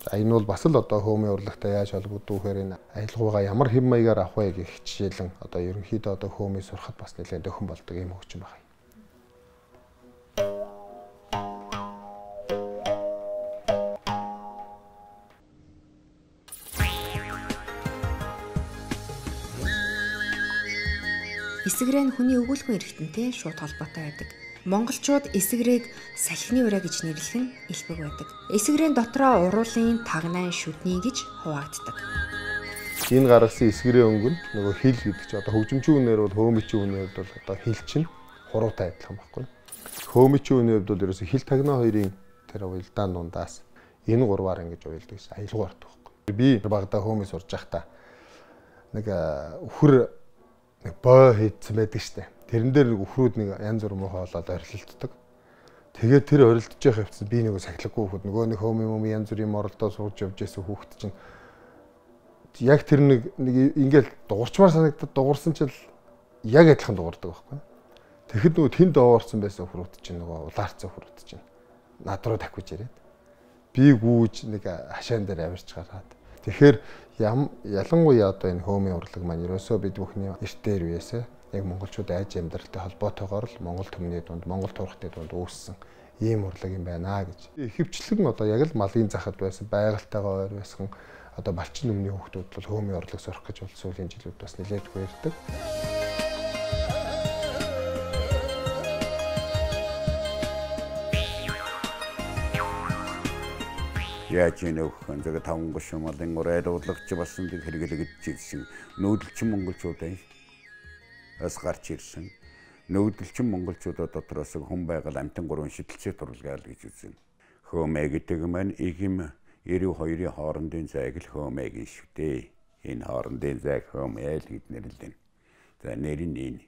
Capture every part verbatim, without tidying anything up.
Энэ бол бас л одоо хөөмийн урлагтай яаж холбогддог вэхээр энэ аялгаугаа ямар хэм маягаар авах вэ гэх жишээлэн одоо ерөнхийдөө одоо хөөмийн сурахад бас нэлээд дөхөн болдог юм хөгжим байна. Эсгэрээ нь хүний өгүүлбэн эрхтэнтэй шууд холбоотой байдаг. Монголчууд эсгэрийг салхины ураа гэж нэрлэхэн элбэг байдаг. Эсгэрийн дотроо уруулын тагнайн шүдний гэж хуваагддаг. Энэ гаргасан эсгэрийн өнгө нь нөгөө хил гэдэг чинь одоо хөгжимчийн үнээр бол хөөмичийн үнээр бол одоо хил чинь хуруутай адилхан байхгүй. Хөөмичийн үнээр бол ерөөсө хил тагнаа хоёрын тэр уялдаан дундаас энэ гурваар ингэж уялдаг гэсэн аялгаа ордог байхгүй. Би багада хөөмөс сурж байхдаа нэг өхөр нэг боо хийдсэн байдаг штэ. Тэрэн дээр нэг өхрүүд нэг янз бүр муу хоолоод орилтдаг. Тэгээд тэр орилдож байгаа хэвчээ би нэг сахилахгүй хөхөд нөгөө нэг хөөм юм янз бүрийн моролдоо сууж явж байсан хүүхэд чинь яг тэр нэг нэг ингээл дуурчмаар санагдаад дуурсан чил яг адилхан дуурдаг байхгүй. Тэгэхэд нөгөө тэнд доорсон байсан өхрүүд чинь нөгөө улаарцсан өхрүүд чинь над руу дахиж ирээд би гүүж нэг хашаан дээр авирч гараад тэгэхээр ялангуяа одоо энэ хөөмийн урлаг маань ерөөсөө бид бүхний эртээр үеэсээ яг монголчууд айж амьдралтай холбоотойгоор л монгол төмний дунд монгол турхтны дунд үүссэн ийм урлаг юм байна гэж. Ихэвчлэн одоо яг л малын захад байсан байгальтайгаа ойр байсан одоо малчин өмнөний хүүхдүүд бол хөөмийн урлаг сурах гэж бол сүүлийн жилүүд бас нэлээд хүээрдэг. Яаж нөхөн зэрэг таван гошмолын урайд удлагч басан дэг хэрэглэгдэж ирсэн нүүдэлчин монголчуудын бас гарч ирсэн. Нүүдэлчин монголчуудад дотроос хүн байгаль амтан гурван шидэлцээ туралгаал гэж үзэн. Хөөмэ гэдэг маань игм эрүү хоёрын хоорондын зайг л хөөмэ гэж шүү дээ. Энэ хоорондын зайг хөөмэ л гэж нэрлэдэг. За нэр нь энэ.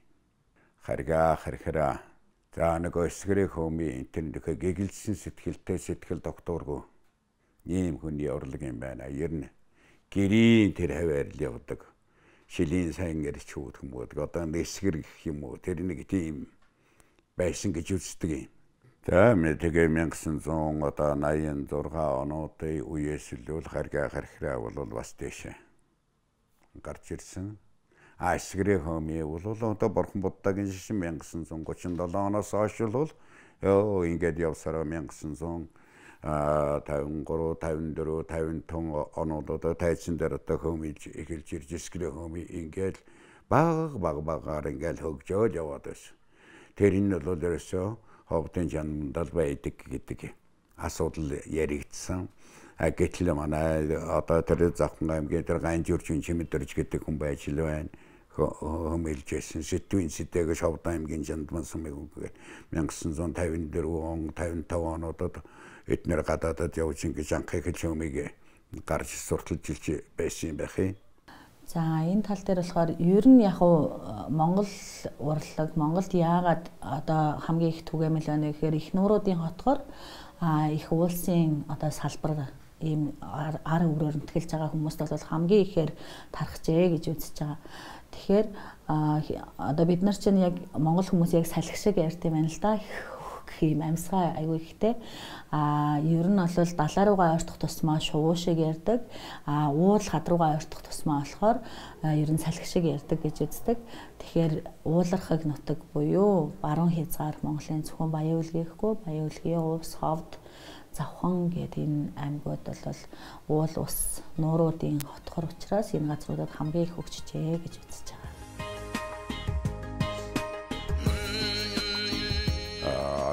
Харгаа хархараа. За нэг өсгөрөө хөөмийн интернет гэгэлсэн сэтгэлтэй сэтгэл докторгүй. Ийм хүний урлаг юм байна. Ер нь гэрийн тэр хаваар л явдаг. Шилийн сайн гэрч хүүд хүмүүд одоо нэсгэр гэх юм уу тэр нэг тийм байсан гэж үздэг юм. За тэгээ мянга зуун одоо найман зургаан онуудын үеэс л харгаа хархраа бол бас дэшээ гарч ирсэн. А эсгэрийн хөөмий бол одоо борхон буддагийн шишин мянга зуун гучин долоо оноос хойш бол ёо ингээд явсараа мянга зуун а тавин гурав тавин дөрөв тавин тон онуудаа тайцсан дээр одоо хөөмийж эхэлж ирж эсгэрийн хөөмий ингээд баг баг багаар ингээд хөгжөөд яваад байсан. Тэр энэ бол ерөөсөө ховдын жандал байдаг гэдэг асуудал яригдсан. А гэтэл манай одоо тэр Завхан аймгийн тэр Ганжуурчин Чимэдэрж гэдэг хүн байж л байна. Хөөмөлжсэн сэтвийн сэтэйг Ховдын аймгийн жандман сумыг үгээр мянга зуун тавин дөрөв он тавин таван онуудад эднэр гадаадад явж ингэж анхыг хөөмийг гарч сурталж илж байсан юм байх юм. За энэ тал дээр болохоор ер нь яг уу Монгол урлаг Монголд яагаад одоо хамгийн их түгээмэл байна гэхээр их нууруудын хотгоор их уулсын одоо салбар ийм ар өрөөр нэтгэлж байгаа хүмүүст бол хамгийн ихээр тархжээ гэж үзэж байгаа. Тэгэхээр одоо бид нар чинь яг монгол хүмүүс яг салхи шиг ярьд юм байна л да. Гэх юм амьсгаа аягүй ихтэй. А ер нь бол далаа руугаа ойртох тусмаа шувуу шиг ярьдаг. А уул хад руугаа ойртох тусмаа болохоор ер нь салхи шиг ярьдаг гэж үздэг. Тэгэхээр уулархаг нутаг буюу баруун хязгаар Монголын зөвхөн Баян үлгийхгүй Баян үлгийн Увс, Ховд, Завхан гэдэг энэ аймагуд бол уул ус нууруудын хотхор учраас энэ газруудад хамгийн их хөгжижээ гэж үзэж байгаа.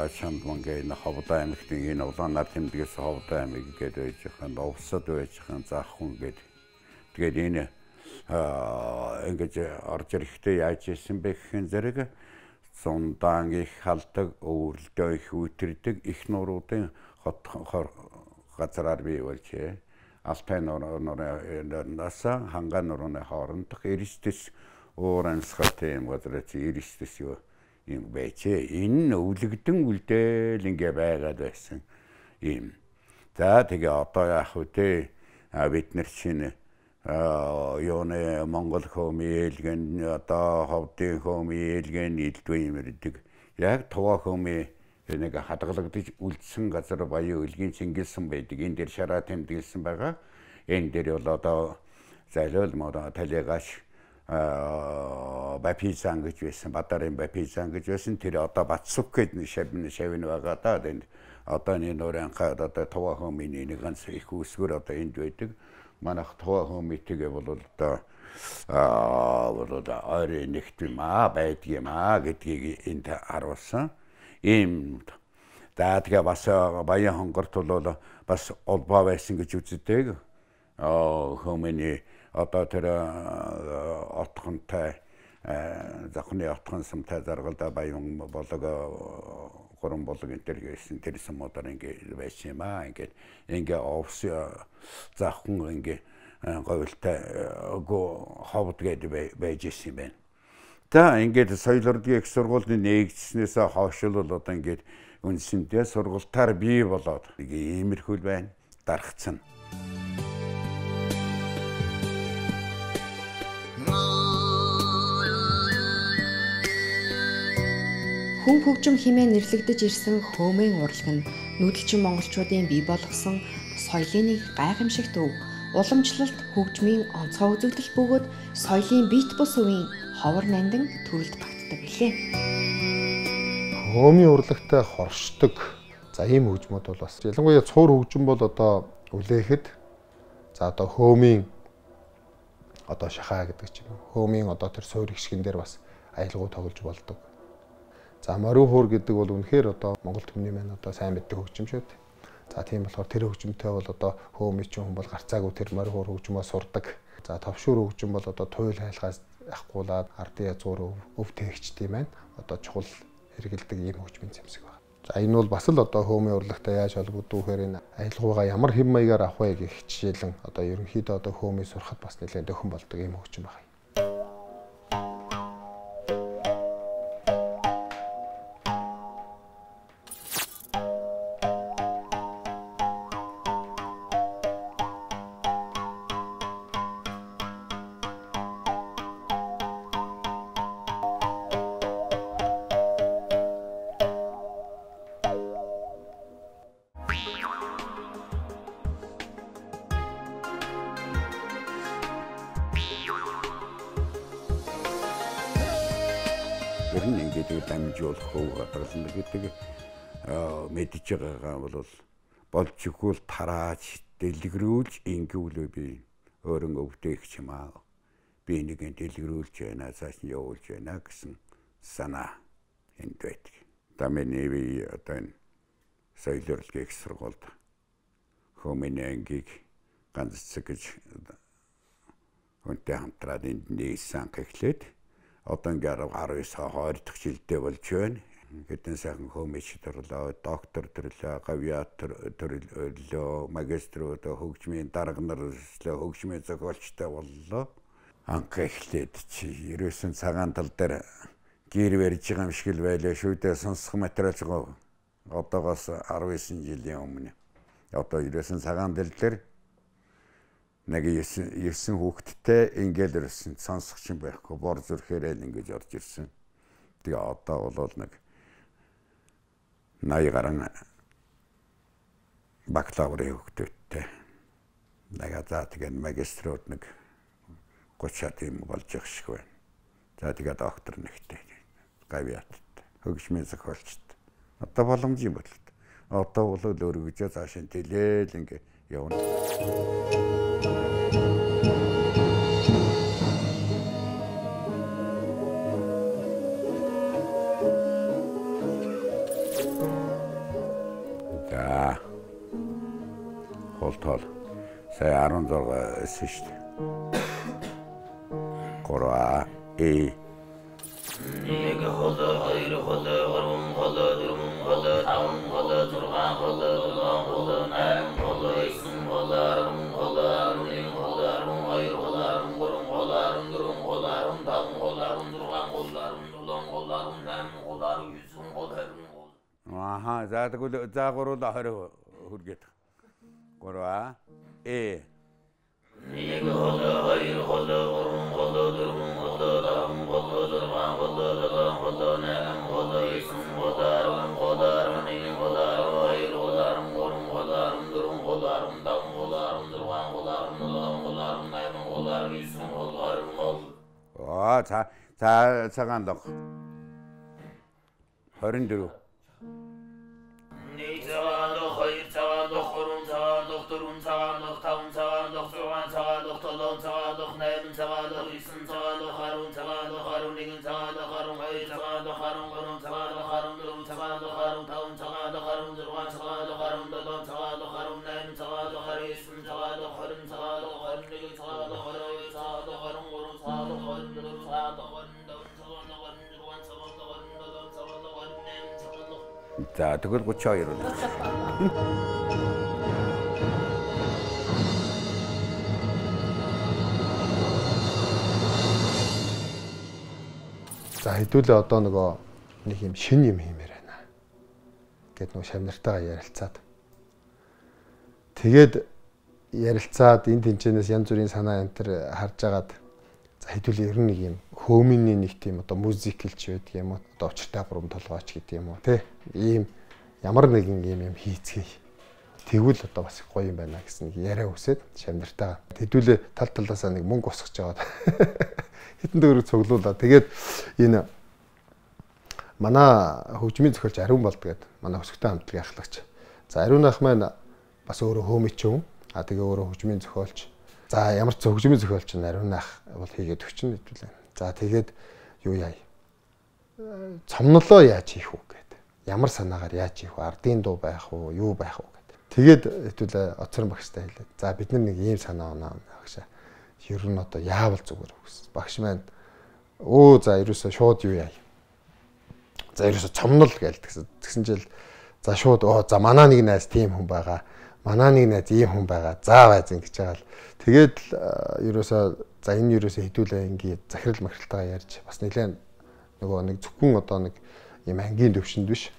Шандмангийн Ховдын аймагтын энэ улаанаар тэмдгээс Ховдын аймаг гэдэг байж хань Увсад байж хань Завхан гэдэг. Тэгээд энэ ингэж орж ирэхдээ яаж ийсэн бэ гэхэн зэрэг зундаан их халдаг, өвөрлдөө их үтэрдэг их нууруудын хот газраар бий болжээ. Алтай нуурнаас хангаан нуурны хоорондох эрэстэс уур амьсгалтай юм газар чи эрэстэс юу юм байчээ. Энэ өвлөгдөн үлдээл ингээ байгаад байсан юм. За тэгээ одоо яах вэ? Бид нар чинь юуны Монгол хөөмийн ээлгэн одоо Ховдын хөөмийн ээлгэн илдвэ юм ирдэг. Яг Туваа хөөмийн нэг хадгалагдаж үлдсэн газар баян үлгийн цэнгэлсэн байдаг. Энэ дээр шараа тэмдэглэсэн байгаа. Энэ дээр бол одоо зайлал модо талигаш бапизан гэж байсан, бадарын бапизан гэж байсан. Тэр одоо Батсук гэдэг шавны шавны байгаа да. Энэ одоо энэ нөрөнхад одоо товаа хомины нэг ганц их үсгэр одоо энд байдаг. Манайх товаа хомитгээ бол одоо аа бол одоо ойрын нэгтмаа байдгиймаа гэдгийг энд харуулсан. Ийм за тэгээ бас баян хонгорт бол бас олбоо байсан гэж үздэг. Аа хомины одоо тэр отхонтой захны отхон самтай заргалда баян болог гурван болог энэ төр гэсэн тэр самуудаар ингэ байсан юм аа. Ингээд ингээ овс захын ингээ говьлтай гоо ховд гэдэг байж ирсэн юм байна. За ингээд соёл урлагийн их сургуулийн нэгдснээс хойш л одоо ингээд үндсэндээ сургуультаар бий болоод нэг иймэрхүү байна. Дарагцсан. Хүн хөгжим хэмээн нэрлэгдэж ирсэн хөөмийн урлаг нь нүүдэлчин монголчуудын бий болгосон соёлын нэг гайхамшигт өв. Уламжлалт, хөгжмийн онцгой үзэгдэл бөгөөд соёлын бит бус үеийн ховор нандин төрөлд багтдаг билээ. Хөөмийн урлагтай хоршдог. За ийм хөгжмөд бол бас ялангуяа цуур хөгжим бол одоо үлээхэд за одоо хөөмийн одоо шахаа гэдэг ч юм уу. Хөөмийн одоо тэр суур хишгэн дээр бас аялгау тоглож болдог. За морин хуур гэдэг бол үнэхээр одоо Монгол түмний маань одоо сайн мэддэг хөгжим шүү дээ. За тийм болохоор тэр хөгжимтэй бол одоо хөөмийн хүн бол гарцаагүй тэр морин хуур хөгжмөө сурдаг. За товшуур хөгжим бол одоо туйл хайлгаас ахгуулаад ардын язгуур өв тээгчтэй маань одоо чухал хэрэгэлдэг ийм хөгжмийн зэмсэг байна. За энэ бол бас л одоо хөөмийн урлагтай яаж холбогддог вэхээр энэ аялгаугаа ямар хэм маягаар авах вэ гэх жишээлэн одоо ерөнхийдөө одоо хөөмийн сурахад бас нэлээд дөхөн болдог ийм хөгжим байна. Гэрн ингээд дамжуулах хөө хадгална гэдэг мэдж байгаагаа бол болж игүүл тарааж дэлгэрүүлж ингэвлөө би өөрөн өвдөөх юм аа. Би нэг дэлгэрүүлж байна, цааш нь явуулж байна гэсэн санаа энд байдаг. Тамины би одоо энэ соёл урлагийн их сургуульд хөөмийн ангийг ганц цаг гэж үнтэй хамтраад энд нээсэн гэхлээд одоо ингээд арав хоёр дахь жилдээ болж байна. Гэтэн сайхан хөөмич төрлөө, доктор төрлөө, гавьяатор төрлөө, магиструуд хөгжмийн дарга нар хөгжмийн зохиолчтой боллоо. Анх эхлээд чи ерөөсөн цагаан тал дээр гэр барьж байгаа юм шиг л байлаа шүү дээ. Сонсох материал жоо одоогоос арав эсен жилийн өмнө. Одоо ерөөсөн цагаан тал дээр нэг ерсэн хүүхэдтэй ингээл ирсэн сонсох юм байхгүй бор зүрхээр л ингэж орж ирсэн. Тэгээ одоо бол нэг наяа гарan бакалаврын хүүхэдтэй. Нага за тэгээ магиструуд нэг гочаад юм болж их шиг байна. За тэгээ доктор нэгтэй гавьяаттай хөгжмийн зохиолчтой. Одоо боломж юм бол. Одоо бол өөргөжөө цаашаа тэлээл ингэ явна. За холтол сая арван зураг эсэн шүү дээ. Гурван э нэг холоо хоёр холоо гурван холоо дөрвөн холоо таван холоо зургаан холоо дөрвөн холоо найран холоо эсэн холоо арван холоо арван холоо арван хоёр холоо арван гурван холоо арван дөрвөн холоо арван таван холоо арван зургаан холоо арван дөрвөн холоо арван найран холоо арван эсэн холоо арван Аха, за тэгвэл за гурван хоёр хүргээд. Гурван э нэг холоо хоёр холоо гурван холоо дөрвөн холоо таван холоо зургаан холоо дөрвөн холоо найран холоо эсэн холоо арван холоо арван 자, 자, цагаан лог. хорин дөрөв. нэг цагаан лог, хоёр цагаан лог, гурван цагаан лог, дөрвөн цагаан лог, таван цагаан лог, зургаан цагаан лог, долоон цагаан лог, найман цагаан лог, есөн цагаан лог, арван цагаан лог, арван нэгэн цагаан лог, арван хоёр цагаан лог, арван гурван цагаан лог, арван дөрвөн цагаан лог, арван таван цагаан лог, арван зургаан цагаан лог, арван долоон цагаан лог, арван найман цагаан лог, арван есөн цагаан лог, хорин цагаан лог, хорин нэгэн цагаан лог, хорин хоёр цагаан лог, хорин гурван цагаан лог, хорин дөрвөн цагаан лог, хорин таван цагаан лог, хорин зургаан цагаан лог, хорин долоон цагаан лог, хорин найман цагаан лог. За тэгвэл гуч хоёр үү. За хэдүүлээ одоо нөгөө нэг юм шин юм хиймээр байна. Гэт нөгөө шавнартайгаа ярилцаад. Тэгээд ярилцаад энэ тэнцэнээс янз бүрийн санаа энэ төр харж агаад за хэдүүлээ ер нь нэг юм хөөмийн нэг тийм одоо музикэлч байдаг юм уу? Одоо учиртай гурван толгойч гэдэг юм уу те? Ийм ямар нэгэн юм юм хийцгээе. Тэгвэл одоо бас гоё юм байна гэсэн яриа өсөд шавнартайгаа. Хэдүүлээ тал талаасаа нэг мөнгө усгаж аваад хитэн дөрөв цуглуулаад тэгээд энэ манай хөгжмийн зохиолч Ариун болд гэдэг манай өсгөтэй хамтлагийн ахлагч. За Ариун ах маань бас өөрөө хөөмичүүн. А тэгээ өөрөө хөгжмийн зохиолч. За ямар ч хөгжмийн зохиолч нь Ариун ах бол хийгээд өчнө хэвлээ. За тэгээд юу яа. Цомнолоо яаж хийх вэ гэдэг. Ямар санаагаар яаж хийх вэ? Ардын дуу байх уу, юу байх уу гэдэг. Тэгээд хэвлээ оцрон багштай хэлээд. За бид нар нэг ийм санаа оноо багшаа. Ер нь одоо яавал зүгээр үгс. Багш маань өө за ерөөсөө шууд юу яа. За ерөөсөө цомнол гэлдэг. Тэгсэн чил за шууд оо за манаа нэг найз тийм хүн байгаа. Манаа нэг найз ийм хүн байгаа. За байз ингэж байгаа л. Тэгээд ерөөсөө за энэ ерөөсөө хэдүүлээ ингээ захирал махралтайгаа ярьж бас нэлээд нөгөө нэг зөвхөн одоо нэг юм ангийн төвшөнд биш.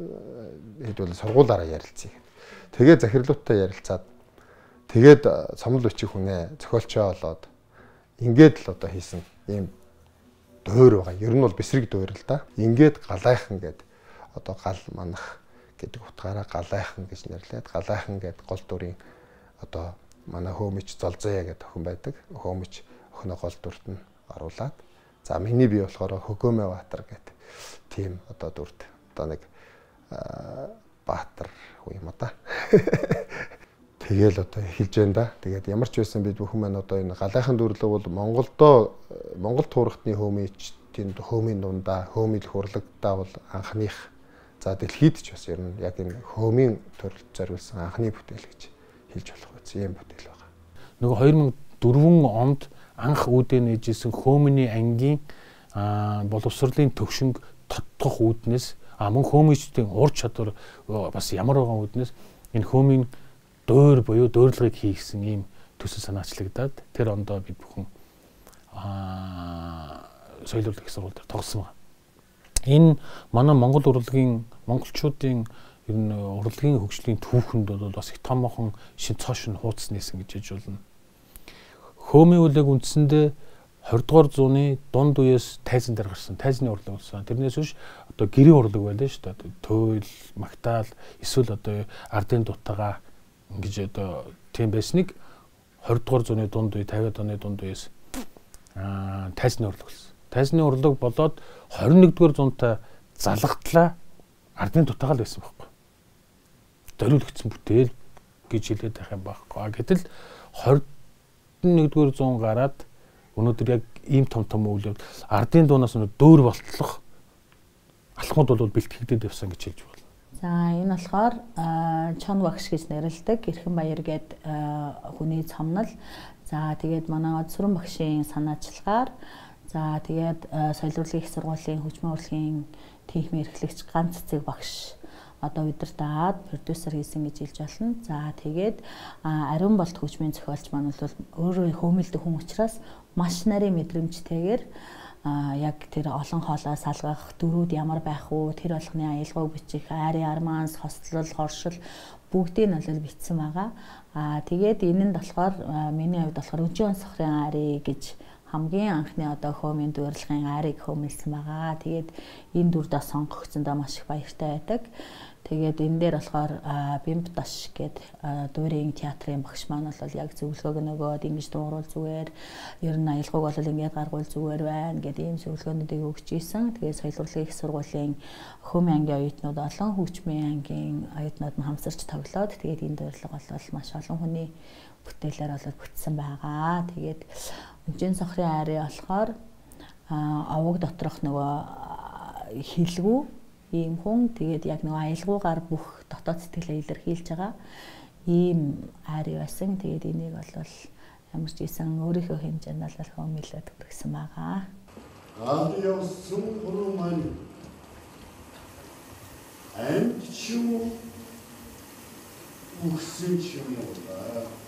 Хэдүүлээ сургуулаараа ярилцъя. Тэгээд захирлуудтай ярилцаад тэгээд цомол өчиг хүнээ зохиолчоо болоод ингээд л одоо хийсэн ийм дуур байгаа. Ер нь бол бэсрэг дуур л да. Ингээд галайхан гэд одоо гал манах гэдэг утгаараа галайхан гэж нэрлээд галайхан гэд гол дүрийн одоо манай хөөмич Золзоя гэдэг охин байдаг. Хөөмич охиноо гол дүрт нь оруулаад за миний бие болохоор Хөгөөмэ Баатар гэдэг тийм одоо дүрт одоо нэг Баатар уу юм да. Тэгэл одоо эхэлж байна да. Тэгээд ямар ч байсан бид бүхэн маань одоо энэ галайхан дүрлэг бол Монголдоо Монгол туурхтны хөөмичтийн хөөмийн дундаа хөөмил хурлагдаа бол анхных за дэлхийд ч бас ер нь яг энэ хөөмийн төрөлд зориулсан анхны бүтээл гэж хэлж болох үгүй юм бүтээл байгаа. Нөгөө хоёр мың и дөрвөн онд анх үүдээ нээжсэн хөөмний ангийн боловсролын төвшинг тодтох үүднээс а мөн хөөмичдийн ур чадвар бас ямар байгаа үүднээс энэ хөөмийн дуур буюу дуурлагыг хийгсэн ийм төсөл санаачлагдаад тэр ондоо бид бүхэн аа соёл урлагийн сургууль дээр тогсон байна. Энэ манай Монгол урлагийн монголчуудын ер нь урлагийн хөгжлийн түүхэнд бол бас их томоохон шин цоошин хуудас нээсэн гэж хэлж болно. Хөөмийн үлэг үндсэндээ двадцать дугаар зууны дунд үеэс тайзан дээр гарсан тайзны урлаг болсон. Тэрнээс биш одоо гэрийн урлаг байлаа шүү дээ. Төөл, магтаал, эсвэл одоо ардын дутагаа ингэж одоо тийм байсныг двадцать дугаар зууны дунд үе, тавиад оны дунд үеэс аа тайзны урлаг болсон. Тайзны урлаг болоод двадцать нэгдүгээр зуунтай залгатлаа ардын дутагаал байсан байхгүй. Зориулагдсан бүтээл гэж хэлээд байх юм байхгүй. Гэтэл двадцать нэгдүгээр зуун гараад өнөөдөр яг ийм том том үйл явдал ардын дуунаас нь дөөр болтлох алхмууд бол бэлтгэгдээд явсан гэж хэлж байна. За энэ болохоор Чон багш гэж нэрлэдэг Эрхэн Баяр гээд хүний цомнол. За тэгээд манай Одсүрэн багшийн санаачлагаар за тэгээд соёл урлагийн их сургуулийн хөгжмийн урлагийн техникийн эрхлэгч ганц цэцэг багш одоо удирдаад продюсер хийсэн гэж хэлж болно. За тэгээд Ариун болд хөгжмийн зохиолч маань бол өөрөө хөөмөлдөх хүн учраас маш нарийн мэдрэмжтэйгээр яг тэр олон хоолой салгах дөрүүд ямар байх вэ? Тэр болгоны аялгауг бичих, айрын арманс, хослол, хоршил бүгдийг нь бол бичсэн байгаа. Аа тэгээд энэ нь болохоор миний хувьд болохоор Өжийн сохрын ари гэж хамгийн анхны одоо хөөмийн дуурлахын арыг хөөмөлсөн байгаа. Тэгээд энэ дүрдээ сонгогдсондоо маш их баяртай байдаг. Тэгээд энэ дээр болохоор Бимб Даш гэдэг дуурийн театрын багш маань бол яг зөвлөгөөг нөгөөд ингэж дууруул зүгээр, ер нь аялгауг бол ингэж гаргуул зүгээр байна гэдэг ийм зөвлөгөөнүүдийг өгч ийсэн. Тэгээд соёл урлагийн их сургуулийн хөөмийн ангийн оюутнууд олон хөгжмийн ангийн оюутнууд нь хамсарч тоглоод тэгээд энэ дуурлага бол маш олон хүний бүтээлээр бол бүтсэн байгаа. Тэгээд Үнжийн сохрын айрын болохоор овог доторх нөгөө хилгүү ийм хүн тэгээд яг нөгөө аялгуугаар бүх дотоод сэтгэлээ илэрхийлж байгаа ийм айр байсан. Тэгээд энийг бол ямар ч ийсэн өөрийнхөө хэмжээнд бол хөөмөлөд хүргэсэн байгаа. Аад явсан хуруу маань амт шүү үхсэн ч юм уу.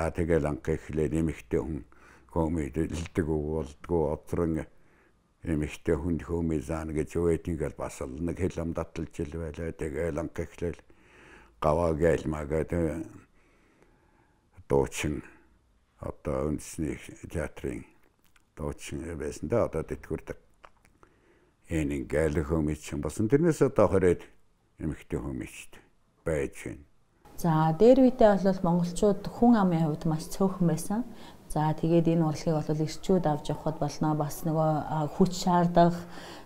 За тэгэл анх эхлээ нэмэгтэй хүн хөөмид илдэг болдгоо одрон нэмэгтэй хүн хөөмид заана гэж өөдгийг бас л нэг хэлэм таталж ил байлаа. Тэгэл анх эхлээл гаваа гэлмагаад дуучин одоо үндэсний театрын дуучин байсан да одоо тэтгэврдэг. Энэ гэл хөөмид ч басан тэрнээс одоо хорээд нэмэгтэй хөөмид байж байна. За дээр үедээ бол монголчууд хүн амын хувьд маш цөөхөн байсан. За тэгээд энэ урлагийг бол ирчүүд авч явахд болно. Бас нөгөө хүч шаардах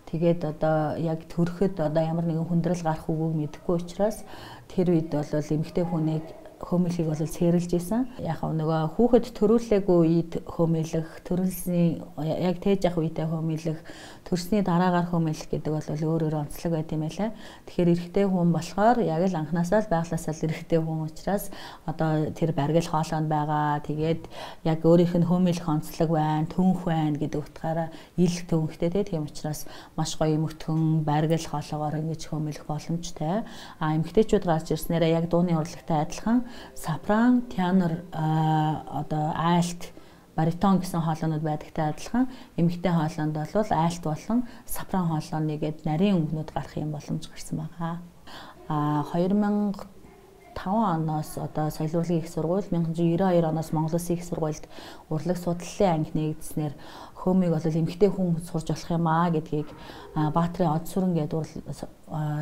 тэгээд одоо яг төрөхөд одоо ямар нэгэн хүндрэл гарах үгүйг мэдэхгүй учраас тэр үед бол эмэгтэй хүнийг хөөмөлийг бол цээрлж исэн. Яг нөгөө хүүхэд төрүүлээгүй үед хөөмөлөх, төрүүлсний яг тээж явах үедээ хөөмөлөх, төрсний дараагаар хөөмөлөх гэдэг бол өөр өөр онцлог байт юм байлаа. Тэгэхээр эрэгтэй хүн болохоор яг л анханасаа л байгласаа л эрэгтэй хүн учраас одоо тэр баргил хоолойнд байгаа. Тэгээд яг өөрийнх нь хөөмөлөх онцлог байна, төнх байна гэдэг утгаараа ил төнхтэй тийм учраас маш гоё мөтгөн баргил хоолоогоор ингэж хөөмөлөх боломжтой. А эмэгтэйчүүд гарч ирснээрээ яг дууны урлагтай адилхан сопран, тенор, одоо альт, баритон гэсэн хоолойнууд байдагтай адилхан эмэгтэй хоолойнд бол альт болон сопран хоолойны гээд нарийн өнгнүүд гарах юм боломж гарсан байгаа. А хоёр мянга таван оноос одоо соёлын урлагийн их сургууль, найман девяносто хоёр оноос Монгол Улсын их сургуульд урлаг судлалын анги нэгдснээр хөөмийг бол эмэгтэй хүн сурж болох юм аа гэдгийг Баатрын Од сүрэн гэдэг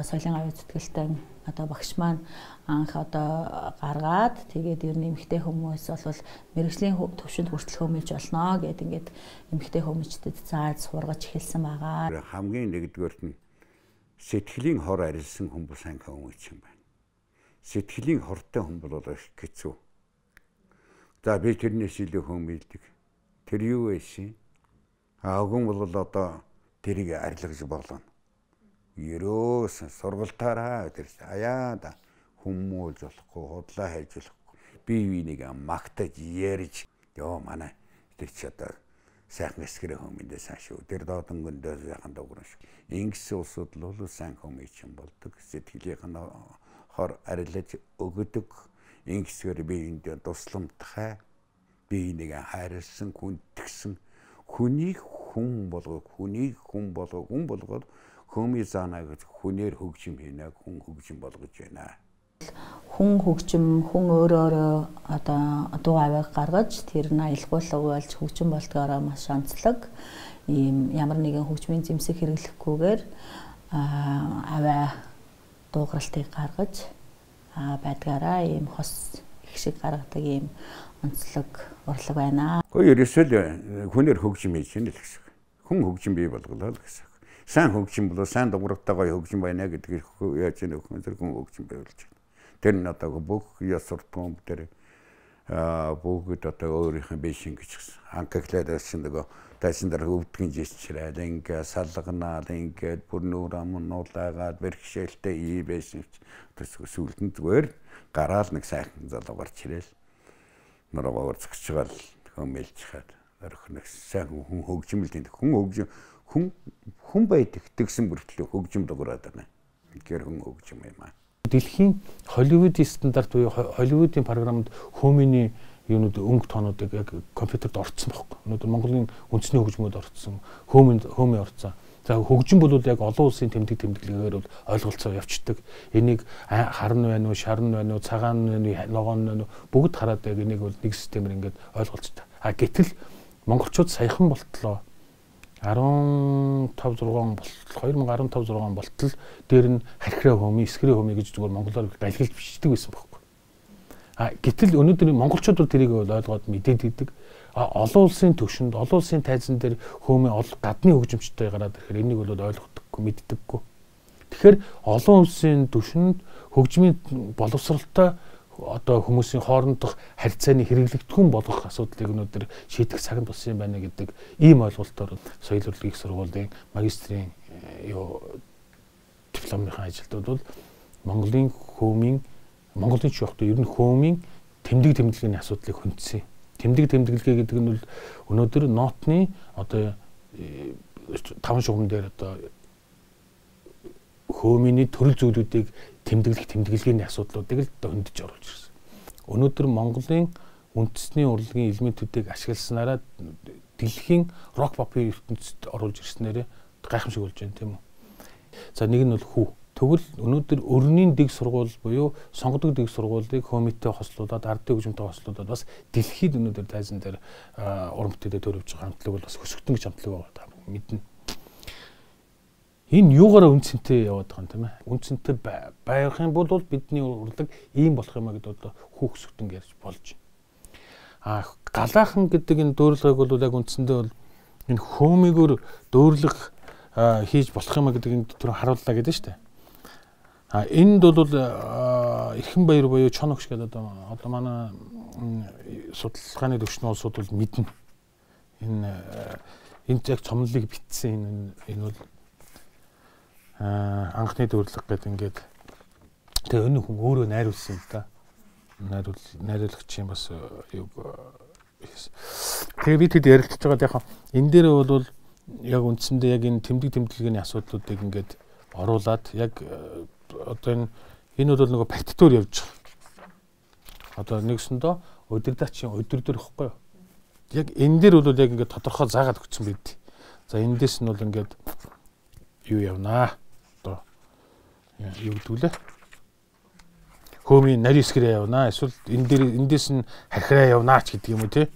соёлын аюул зүтгэлтэй одоо багш маань анх одоо гаргаад тэгээд ер нь эмэгтэй хүмүүс бол мэрэгжлийн төвшөнд хүртэл хөөмөлж болно гэд ингээд эмэгтэй хөөмөлчдөд зааж сургаж эхэлсэн байгаа. Хамгийн нэгдүгээрт нь сэтгэлийн хор арилсан хүмүүс сайн хөөмөлч юм байна. Сэтгэлийн хортой хүн бол их хэцүү. За би тэрнээс илүү хөөмөлдөг. Тэр юу вэ? Аа хүн бол одоо тэрийг арилгаж болно. Ерөөс сургалтаараа тэр аяа да хүмүүс болохгүй худлаа хайж болохгүй бие биенийг магтаж ярьж ёо манай тэр ч одоо сайхан эсгэрэ хүмүүндээ сайн шүү тэр доодан гөндөө сайхан дуурах шүү ингэсэн улсууд л бол сайн хүмүүс юм болдог сэтгэлийнх нь хор арилж өгдөг ингэсгээр биеиндээ тусламжтай биенийг хайрлсан хүндгсэн хүнийг хүн болгох хүнийг хүн болгох хүн болгоод хөөмий заана гэж хүнээр хөгжим хийнэ хүн хөгжим болгож байна. Хүн хөгжим хүн өөрөө одоо дуу авиг гаргаж тэр нь аялгуулга болж хөгжим болдгоороо маш онцлог ийм ямар нэгэн хөгжмийн зэмсэг хэрэглэхгүйгээр аваа дуугаралтыг гаргаж байдгаараа ийм хос их шиг гаргадаг ийм онцлог урлаг байна. Гэхдээ ерөөсөө хүнээр хөгжим хийж байна л гэсэн. Хүн хөгжим бий болголоо л гэсэн. Сайн хөгжим бол сайн дуурайтай гоё хөгжим байна гэдгийг яаж нөхөн тэр хүн хөгжим байвалж байна. Тэр нь одоо бүх яс суртгуун дээр аа бүгд одоо өөрийнх нь биш ингэж гисэн. Анхаглаад байсан нөгөө тайсан дээр өвдгөн жишрээд ингээ салганаад ингээд бүр нүүр ам нуулаагаад бэрхшээлтэй ий байсан. Тэс сүлдэнд зүгээр гараал нэг сайхан залуу гарч ирээл. Нуруугаар згчгаал хөөмөлж хаад орхиног сайн хүн хөгжим л тийм хүн хөгжим хүн хүн байдаг тэгсэн бүртлээ хөгжим дуурайд байна. Тэгэхээр хүн хөгжим юм аа. Дэлхийн Холливуудын стандарт буюу Холливуудын програмд хөөмийн юунууд өнгө тоонуудыг яг компьютерд орцсон байхгүй. Өнөөдөр Монголын үндэсний хөгжмөд орцсон, хөөмийн хөөмийн орцсон. За хөгжим бол яг олон улсын тэмдэг тэмдэглэгээр бол ойлголцоо явцдаг. Энийг харн байна уу, шарн байна уу, цагаан байна уу, ногоон байна уу бүгд хараад яг энийг бол нэг системээр ингээд ойлголцдог. А гэтэл монголчууд саяхан болтлоо арван тав зургаан болтол хоёр мянга арван тав зургаан болтол дээр нь хархираа хөөмий, эсгэрээ хөөмий гэж зүгээр монголоор байлгаж бичдэг байсан байхгүй. А гэтэл өнөөдөр монголчууд бол тэрийг ойлгоод мэдээд идэг. А олон улсын төвшөнд, олон улсын тайзан дээр хөөмий гадны хөгжимчтэй гараад ирэхээр энийг бол ойлгохдаггүй, мэддэггүй. Тэгэхээр олон улсын төвшөнд хөгжмийн боловсралтай одоо хүмүүсийн хоорондох харьцааны хэрэглэгдэхүүн болгох асуудлыг өнөөдөр шийдэх цагт болсон юм байна гэдэг ийм ойлголтоор соёлын урлагийн сургуулийн магистрийн юу дипломынхаа ажилтнууд бол Монголын хөөмийн Монголын ч явахдаа ер нь хөөмийн тэмдэг тэмдэглэгийн асуудлыг хүндсэн. Тэмдэг тэмдэглэгээ гэдэг нь бол өнөөдөр нотны одоо таван шугам дээр одоо хөөмийн төрөл зүйлүүдийг тэмдэглэх тэмдэглэгээний асуудлуудыг л хөндөж оруулж ирсэн. Өнөөдөр Монголын үндэсний урлагийн элементүүдийг ашигласнараа дэлхийн рок попын ертөнцид оруулж ирснээр гайхамшиг болж байна тийм үү. За нэг нь бол хүү. Тэгвэл өнөөдөр өрнийн дэг сургууль буюу сонгодог дэг сургуулийг хөөмиттэй хослуулаад ардын хөгжмөнтэй хослуулаад бас дэлхийд өнөөдөр тайзан дээр уран бүтээлээ төрөвж байгаа хамтлаг бол бас өсгөлтөн гэж хамтлаг байгаа та мэднэ. Энэ юугаараа үнцэнтэй яваад байгаа юм тийм ээ. Үнцэнтэй байх юм бол бидний урлаг ийм болох юм а гэдээ одоо хүүх өсгөлтөн ярьж болж байна. А галаахан гэдэг энэ дөөрлөгөөг бол яг үндсэндээ бол энэ хөөмигөр дөөрлөг хийж болох юм а гэдэг энэ түр харууллаа гэдэг нь шүү дээ. А энд бол Эрхэн баяр буюу Чоногш гэдэг одоо одоо манай судалгааны төвчнөө улсууд бол мэднэ. Энэ энд яг цомлыг битсэн энэ энэ бол анхны дөөрлөг гэдэг ингээд тэгээ энэ хүн өөрөө найруулсан юм да. Найруул найруулагчийн бас юг тэгээ бид хэд ярилцж байгаа яг энэ дээр бол яг үндсэндээ яг энэ тэмдэг тэмдэглэгийн асуудлуудыг ингээд оруулаад яг одоо энэ энэ бол нөгөө партитур явж байгаа. Одоо нэгсэндөө удирдаачийн өдөр дөр ихгүй юу. Яг энэ дээр бол яг ингээд тодорхой заагаад өгсөн байд. За эндээс нь бол ингээд юу явнаа. Одоо юу гэдгүүлээ. Хөөмийн нарийн эсгэрээ явнаа. Эсвэл энэ дээр эндээс нь хархираа явнаа ч гэдэг юм уу тий.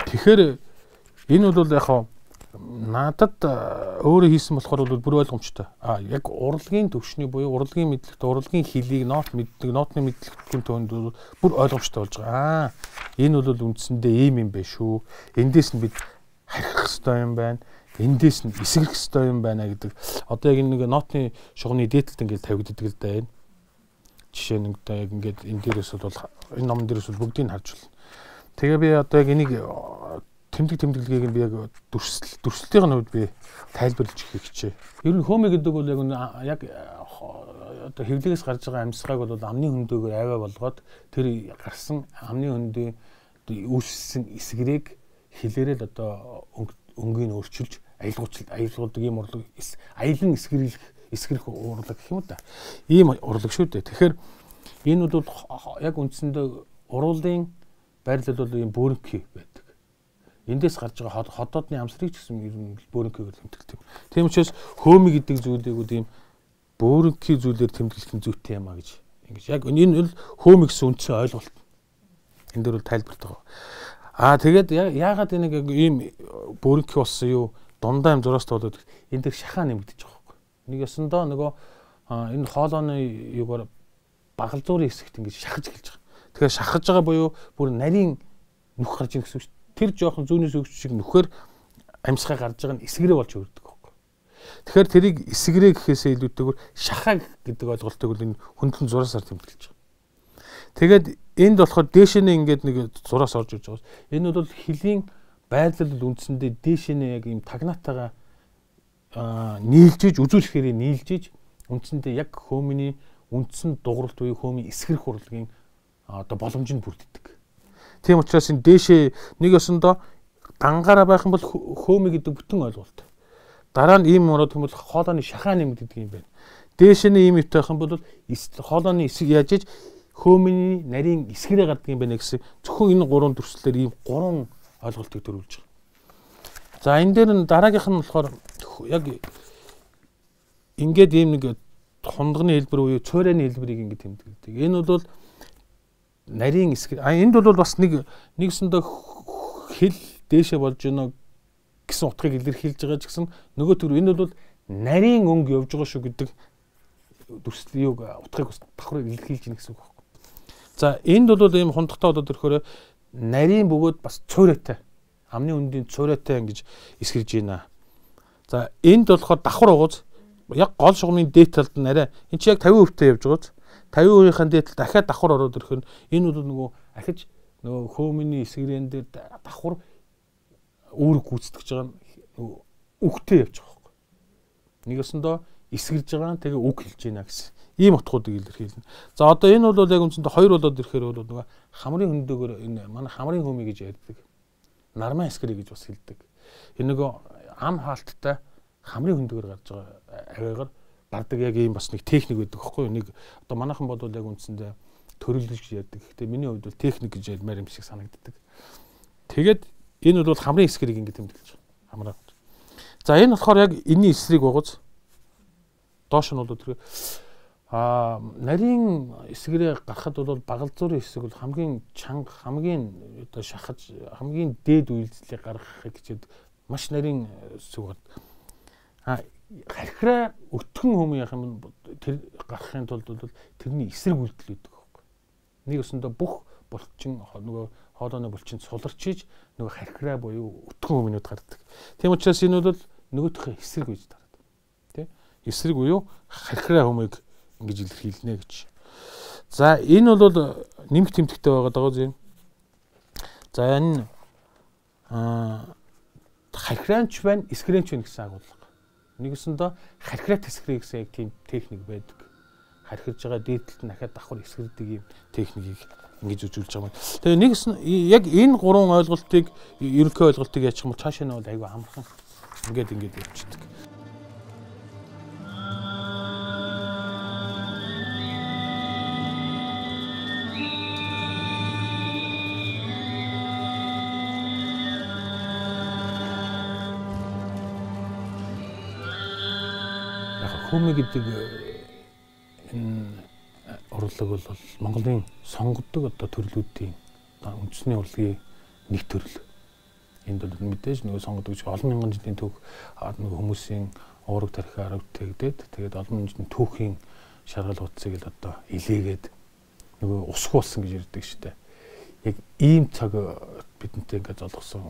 Тэгэхээр энэ бол яг хаа надад өөрөө хийсэн болохоор бол бүр ойлгомжтой. А яг урлагийн төвшний буюу урлагийн мэдлэгт урлагийн хилийг нот мэддэг, нотны мэдлэгтийн төвөнд бүр ойлгомжтой болж байгаа. Аа энэ бол үндсэндээ ийм юм байна шүү. Эндээс нь бид харих хэрэгтэй юм байна. Эндээс нь эсгэрэх хэрэгтэй юм байна гэдэг. Одоо яг нэг нотны шугамны дээдлэлт ингээд тавигддаг л да энэ. Жишээ нь одоо яг ингээд энэ дээрээс бол энэ номон дээрээс бол бүгдийг харж байна. Тэгээ би одоо яг энийг тэмдэг тэмдэглэгийг нь би яг дүрслэл дүрслэлийн хувьд би тайлбарлаж өгөх хичээ. Ер нь хөөмэ гэдэг бол яг яг одоо хэвлэгээс гарч байгаа амьсгааг бол амны хөндөөгөр аваа болгоод тэр гарсан амны хөндөй үүссэн эсгэрийг хилээрэл одоо өнгийг өөрчилж аялгуулж аялгуулдаг юм урлаг аялан эсгэрэх эсгэрэх урлаг гэх юм да. Ийм урлаг шүү дээ. Тэгэхээр энэ бол яг үндсэндээ уруулын байрлал бол ийм бөөрөнхий байдаг. Эндээс гарч байгаа ходоодны амсрыг ч гэсэн ер нь бөөрөнхийгээр тэмдэглэдэг. Тийм учраас хөөмий гэдэг зүйлийг ийм бөөрөнхий зүйлээр тэмдэглэх нь зүйтэй юм а гэж ингэж яг энэ бол хөөмий гэсэн үндсэн ойлголт. Энэ дөр бол тайлбарт байгаа. Аа тэгээд яагаад энийг ийм бөөрөнхий болсон юу дундаа юм зураас тоолоод энэ дэр шахаа нэмэгдэж байгаа байхгүй. Нэг ясандаа нөгөө энэ хоолойны юугаар багалзуурын хэсэгт ингэж шахаж эхэлж байгаа. Тэгэхээр шахаж байгаа буюу бүр нарийн нүх гарч ийн гэсэн үг шүү. Тэр жоохон зүүнээс өгч шиг нөхөр амьсгаа гарч байгаа нь эсгэрээ болж өрдөг байхгүй. Тэгэхээр тэрийг эсгэрээ гэхээсээ илүүтэйгээр шахаа гэдэг ойлголтыг бол энэ хөндлөн зураасаар тэмдэглэж байгаа. Тэгээд энд болохоор дээшэнэ ингээд нэг зураас орж иж байгаа. Энэ бол хилийн байрлал үндсэндээ дээшэнэ яг ийм тагнаатайгаа нийлжиж үзүүлэхээр нийлжиж үндсэндээ яг хөөмийн үндсэн дугуйлт буюу хөөмийн эсгэрэх урлагийн одоо боломжинд бүрддэг. Тийм учраас энэ дээшээ нэг ёсондоо дангаараа байх юм бол хөөмий гэдэг бүтэн ойлголт. Дараа нь ийм ороод юм бол хоолойны шахаа нэмэгддэг юм байна. Дээш нь ийм өвтэй байх юм бол хоолойны эсэг яаж иж хөөмийн нарийн эсгэрээ гардаг юм байна гэсэн зөвхөн энэ гурван төрслөөр ийм гурван ойлголтыг төрүүлж байгаа. За энэ дээр нь дараагийнх нь болохоор яг ингээд ийм нэг хундганы хэлбэр буюу цойраны хэлбэрийг ингээд тэмдэглэдэг. Энэ бол нарийн эсгэр а энд бол бас нэг нэгсэндээ хэл дээшээ болж байна гэсэн утгыг илэрхийлж байгаа ч гэсэн нөгөө төр энэ бол нарийн өнгө явж байгаа шүү гэдэг дүрслэлийн утгыг бас давхар илэрхийлж байна гэсэн үг байхгүй. За энд бол ийм хундагтай болоод ирэхээр нарийн бөгөөд бас цойроотой амны өндийн цойроотой ингэж эсгэрж байна. За энд болохоор давхар угууз яг гол шугамын дээд талд нь арай энэ чи яг тавин хувьтай явж байгааз тавин хувийн дээд тал дахиад давхар ороод ирэх нь энэ бол нөгөө ахиж нөгөө хөөмийн эсгэрэн дээр давхар үүрэг гүйцэтгэж байгаа нь үгтэй явж байгаа байхгүй. Нэг өсөндөө эсгэрж байгаа тэгээ үг хэлж байна гэсэн ийм утгуудыг илэрхийлнэ. За одоо энэ бол яг үндсэндээ хоёр болоод ирэхээр бол нөгөө хамрын хөндөөгөр энэ манай хамрын хөөмий гэж ярьдаг. Нармаа эсгэрээ гэж бас хэлдэг. Энэ нөгөө ам хаалттай хамрын хөндөөгөр гарч байгаа аваагаар бардаг яг ийм бас нэг техник байдаг байхгүй юу. Нэг одоо манайхан бодвол яг үндсэндээ төрөл гэж ярьдаг. Гэхдээ миний хувьд бол техник гэж ялмаар юм шиг санагддаг. Тэгээд энэ бол хамрын эсгэрийг ингэ тэмдэглэж байгаа. Хамраа. За энэ болохоор яг энэний эсрэг байгууз. Доош нь бол тэр а нарийн эсгэрээ гарахад бол багалзуурын эсэг бол хамгийн чанга, хамгийн одоо шахаж, хамгийн дээд үйлдэлийг гаргахыг хичээд маш нарийн сүгд. А хархираа өтгөн хүмүүс яах юм тэр гарахын тулд бол тэрний эсрэг үйлдэл үүдэг байхгүй. Нэг өсөндөө бүх булчин нөгөө хоолойны булчинд суларчиж нөгөө хархираа буюу өтгөн хүмүүнүүд гардаг. Тийм учраас энэ бол нөгөөхөө эсрэг үеж тараад. Тэ? Эсрэг буюу хархираа хүмүүийг ингэж илэрхийлнэ гэж. За энэ бол нэмэх тэмдэгтэй байгаа даа зэн. За энэ аа хархираанч байна, эсгэрэнч байна гэсэн агуулга. Нэгэсэндээ хархираа тэсгэрээ гэсэн яг тийм техник байдаг. Хархирж байгаа дээдлэлт нь дахиад давхар эсгэрдэг юм техникийг ингэж үзүүлж байгаа юм. Тэгээ нэгс яг энэ гурван ойлголтыг ерөнхий ойлголтыг яачих юм бол цаашаа нь бол айгүй амархан ингээд ингээд явчихдаг. Хөмө гэдэг энэ урлаг бол Монголын сонгодог одоо төрлүүдийн үндэсний урлагийн нэг төрөл. Энд бол мэдээж нөгөө сонгодог ч олон мянган жилийн түүх нөгөө хүмүүсийн уураг тархиар өвтгөгдөд тэгээд олон жилийн түүхийн шаргал утсыг л одоо илээгээд нөгөө усгуулсан гэж ярьдаг шүү дээ. Яг ийм цаг бидэнтэй ингээд золгосон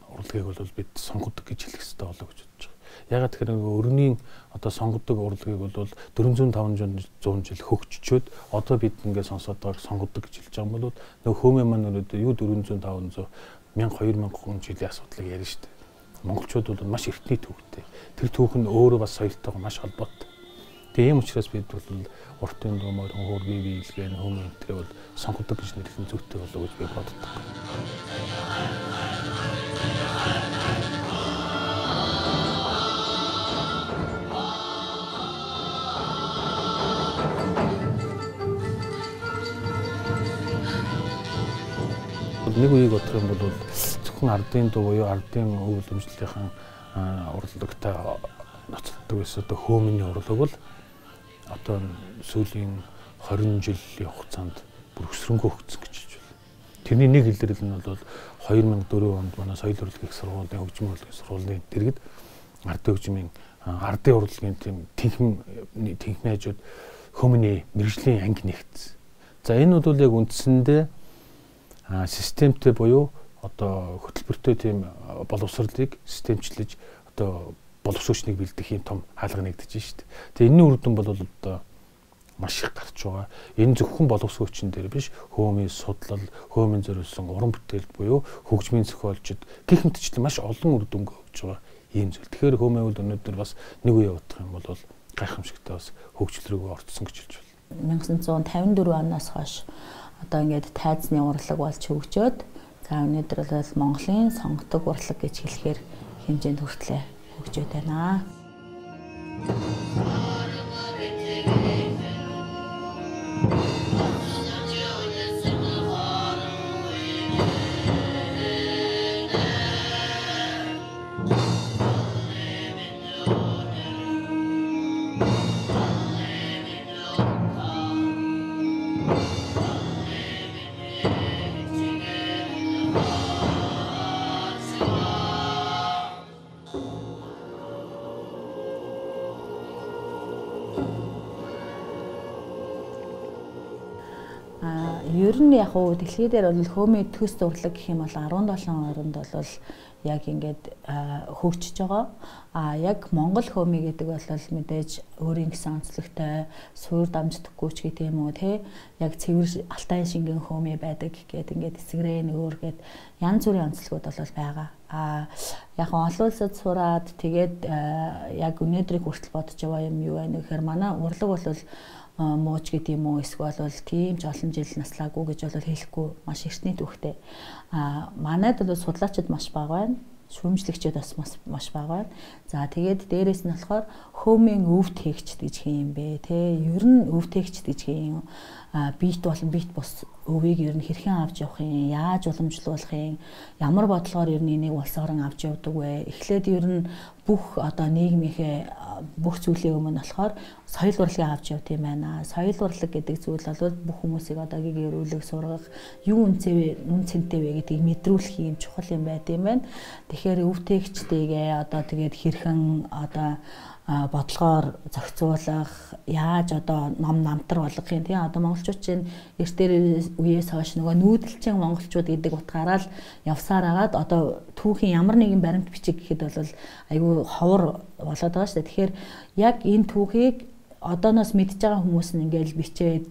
урлагийг бол бид сонгодог гэж хэлэх хэрэгтэй болоо гэж бодож байгаа. Ягаад тэгэхээр өргөний одоо сонгодог урлагийг бол дөрвөн зуун жил хөгжчөөд одоо бид ингээд сонсоод байгаа сонгодог гэж хэлж байгаа бол нөгөө хөөмөө маань өнөөдөр юу дөрвөн зуун таван зуун мянга хоёр мянган жилийн асуудлыг ярина шүү дээ. Монголчууд бол маш эртний түүхтэй. Тэр түүх нь өөрөө бас соёлтойгоо маш холбоотой. Тэгээ ийм учраас бид бол уртын дуумаар хөөргий биелгэн хөөмөө энтрээ бол сонгодог гэж нэрлэх нь зүйтэй болоо гэж би боддог. Нэг үеийг бодох юм бол зөвхөн ардын дуу буюу ардын өв уламжлалынхаа урлагтай ноцтдог байсан одоо хөөмөний урлаг бол одоо сүүлийн хорин жилийн хугацаанд бүр өсрөнгөө хөгжсөн гэж хэлж байна. Тэрний нэг илэрлэл нь бол хоёр мянга дөрөв онд манай соёл урлагийн сургуулийн хөгжмийн урлагийн сургуулийн дэргэд ардын хөгжмийн ардын урлагийн тийм тэнхим тэнхмийн хажууд хөөмөний мэрэгжлийн анги нэгдсэн. За энэ бол яг үндсэндээ системтэй буюу одоо хөтөлбөртэй тийм боловсролыг системчлэж одоо боловсруучныг бэлдэх юм том хаалга нэгдэж байна шүү дээ. Тэгээ энэний үр дүн бол одоо маш их гарч байгаа. Энэ зөвхөн боловсрууччин дээр биш, хөөмийн судлал, хөөмийн зориулсан уран бүтээлд буюу хөгжмийн зохиолчд гэх мэтчлэн маш олон үр дүнг өгж байгаа ийм зүйл. Тэгэхээр хөөмөө бол өнөөдөр бас нэг үе явах юм бол гайхамшигтай бас хөгжил рүү орцсон гэж хэлж байна. найман зуун тавин дөрөв оноос хойш одоо ингээд тайзны урлаг болж хөгжөөд за өнөөдөр бол Монголын сонгодог урлаг гэж хэлэхээр хэмжээнд хүртлээ хөгжөөд байна. Ер нь яг уу дэлхий дээр бол хөөмийн төс урлаг гэх юм бол арван долоо оронд бол яг ингээд хөгжиж байгаа. А яг Монгол хөөмий гэдэг бол мэдээж өөрийн гэсэн онцлогтой суур дамждаггүй ч гэдэг юм уу те яг цэвэр алтай шингэн хөөмий байдаг гэдэг ингээд эсгэрээ нөөр гэд янз бүрийн онцлогуд бол байгаа. А яг олон улсад сураад тэгээд яг өнөөдрийг хүртэл бодож байгаа юм юу вэ гэхээр манай урлаг бол мууч гэдэг юм уу эсвэл бол тийм ч олон жил наслаагүй гэж бол хэлэхгүй маш эртний түүхтэй. А манайд бол судлаачид маш бага байна. шүүмжлэгчид бас маш бага байна. За тэгээд дээрэс нь болохоор хөөмийн өвд хээгчд гэж хэм юм бэ те. Ер нь өвд хээгчд гэж хэм бит болон бит бус өвийг ер нь хэрхэн авч явах юм, яаж уламжлуулах юм, ямар бодлогоор ер нь энийг улс орон авч явдаг вэ? Эхлээд ер нь бүх одоо нийгмийнхээ бүх зүйлийн өмнө болохоор соёл урлагийг авч явт юм байна. Соёл урлаг гэдэг зүйл бол бүх хүмүүсийг одоогийн гэрүүлэг сургах, юу үнцээ үн цэнтэй вэ гэдгийг мэдрүүлэх юм чухал юм байт юм байна. Тэгэхээр өвтгөгчдийгээ одоо тэгээд хэрхэн одоо бодлогоор зохицуулах, яаж одоо ном намтар болгох юм тийм одоо монголчууд чинь эрт дээр үеэс хойш нөгөө нүүдэлчин монголчууд гэдэг утгаараа л явсаар агаад одоо түүхийн ямар нэгэн баримт бичиг гэхэд бол айгүй ховор болоод байгаа шүү дээ. Тэгэхээр яг энэ түүхийг одооноос мэдж байгаа хүмүүс нь ингээл бичээд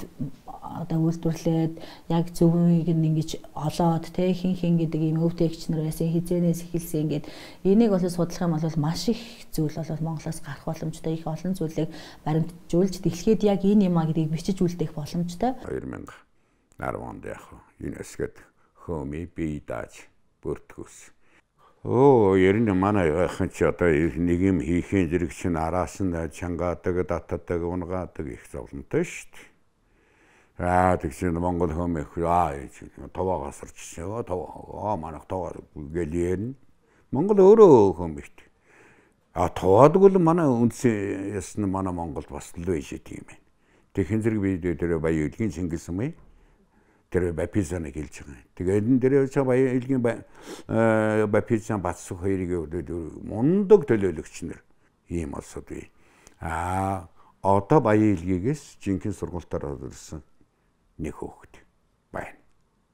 одоо үйлдвэрлээд яг зөвхөн нь ингэж олоод те хин хин гэдэг юм өвдөгч нар байсан хизэнээс эхэлсэн ингээд энийг бол судлах юм бол маш их зүйл бол Монголоос гарах боломжтой их олон зүйлийг баримтжуулж дэлхийд яг энэ юм а гэдгийг бичиж үлдээх боломжтой. хоёр мянга онд яг ЮНЕСКОд хөөми бие дааж бүртгүүлсэн. Оо ерэн манай яхан ч одоо нэг юм хийхин зэрэг чинь араас нь чангаадаг, татдаг, унгаадаг их зовлонтой шүү дээ. Аа тэгсэн Монгол хөөмөх аа товоогоос орчихсон. Товоо манайх товоо гэлээр Монгол өөрөө хөөмөхт. А товоодаг бол манай үндсэн ясна манай Монголд бас л байж тийм юм. Тэг хэн зэрэг би тэр баян илгийн Чингис юм. Тэр бапизаныг хэлж байгаа. Тэгээд энэ дээр ч баян илгийн бапизан бацсах хоёрыг мундаг төлөөлөгч нар ийм олсод бий. А одоо баян илгээс жинхэнэ сургуультаар орсон нэг хүүхэд байна.